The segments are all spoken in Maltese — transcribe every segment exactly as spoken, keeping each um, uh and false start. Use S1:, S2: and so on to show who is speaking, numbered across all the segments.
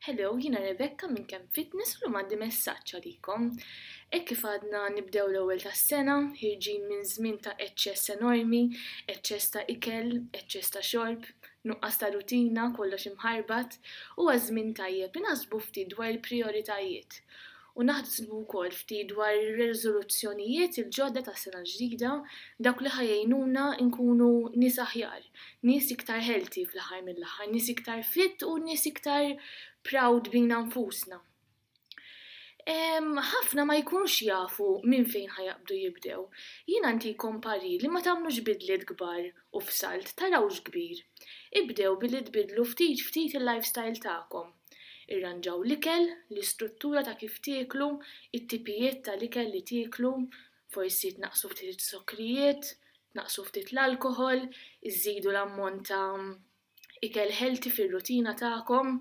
S1: Hello, jiena Rebecca minn Camp Fitness u llum għandi messaġġ għalikom. Hekk kif għadna nibdew l-ewwel tas-sena, ħirġin minn żmien ta' eċċess enormi, eċċess ta' ikel, eċċess ta' xorb, nuqqas ta' rutina, kollox imħarbat, huwa żmien tajjeb li naħsbu ftit dwar il-prijoritajiet u naħsbu wkoll ftit dwar ir-riżoluzzjonijiet il-ġodda tas-sena l-ġdida, dawk li ħa jgħinuna nkunu nies aħjar, nies iktar healthy fl-aħħar mill-aħħar, nies iktar fit u nies iktar proud bina nfusna. Ħafna ma jkunx jafu minn fejn ħa jaqbdu jibdew. Jiena ntikom parir li ma tagħmlux bidliet kbar u f'salt, tarawx kbir. Ibdew billi tbidlu ftit ftit il-lifestyle tagħkom. Irranġaw l-ikel, l-istruttura ta' kif tieklu, it-tipijiet tal-ikel li tieklu, forsi tnaqsu ftit iz-zokkrijiet, tnaqsu ftit l-alkoħol, iżidu l-ammont ta' ikel healthy fir-rutina tagħkom,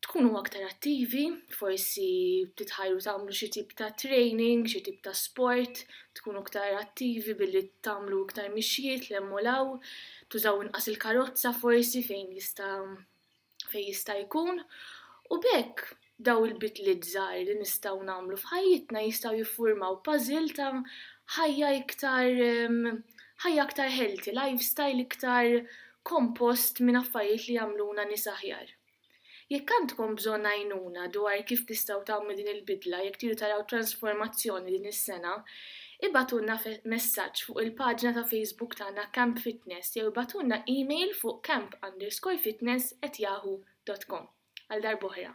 S1: tkunu aktar attivi, forsi titħajru tagħmlu xi tip ta' training, xi tip ta' sport, tkunu aktar attivi billi tagħmlu iktar mixjiet 'l hemm u 'l hawn, tużaw inqas il-karozza forsi fejn jista' fejn jista' jkun. U b'hekk daw il-bidliet żgħar li nistgħu nagħmlu f'ħajjitna jistgħu jiffurmaw puzzle ta' ħajja iktar ħajja aktar healthy, lifestyle iktar kompost minn affarijiet li jagħmluna nies aħjar. Jekk għandkom bżonn għajnuna dwar kif tistgħu tagħmlu din il-bidla, jekk tridu taraw transformazzjoni din is-sena, ibagħtulna messaġġ fuq il-paġna ta' Facebook tagħna Camp Fitness jew ibagħtulna email fuq camp underscore fitness at yahoo dot com. Għal darb'oħra.